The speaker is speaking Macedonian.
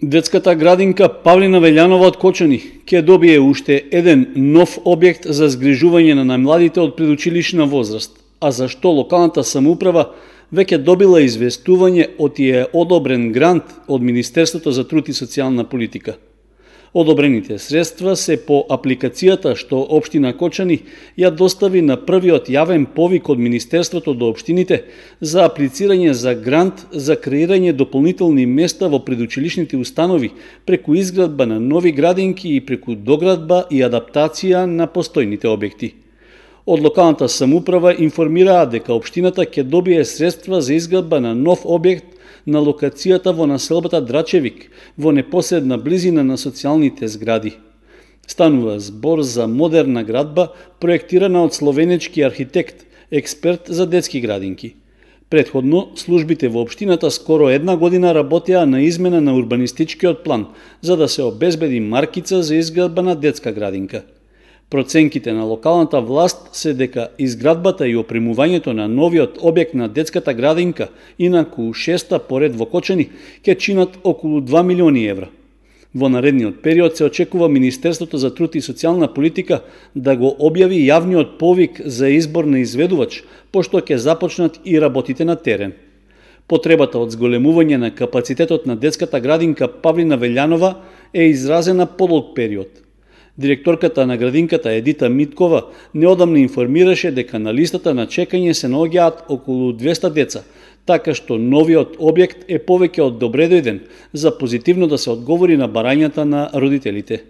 Детската градинка Павлина Велјанова од Кочани ќе добие уште еден нов објект за згрижување на најмладите од предучилишна возраст, а за што локалната самоуправа веќе добила известување од е одобрен грант од Министерството за труд и социјална политика. Одобрените средства се по апликацијата што општина Кочани ја достави на првиот јавен повик од Министерството до општините за аплицирање за грант за креирање дополнителни места во предучилишните установи преку изградба на нови градинки и преку доградба и адаптација на постојните објекти. Од локалната самоуправа информираа дека општината ќе добие средства за изградба на нов објект на локацијата во населбата Драчевик, во непосредна близина на социјалните згради. Станува збор за модерна градба, проектирана од словенечки архитект, експерт за детски градинки. Претходно, службите во општината скоро една година работеа на измена на урбанистичкиот план, за да се обезбеди маркица за изградба на детска градинка. Проценките на локалната власт се дека изградбата и опремувањето на новиот објект на детската градинка, инаку 6-та поред во Кочани, ќе чинат околу 2 милиони евра. Во наредниот период се очекува Министерството за труд и социјална политика да го објави јавниот повик за избор на изведувач, пошто ќе започнат и работите на терен. Потребата од зголемување на капацитетот на детската градинка Павлина Велјанова е изразена подолг период. Директорката на градинката Едита Миткова неодамна информираше дека на листата на чекање се наоѓаат околу 200 деца, така што новиот објект е повеќе од добредојден за позитивно да се одговори на барањата на родителите.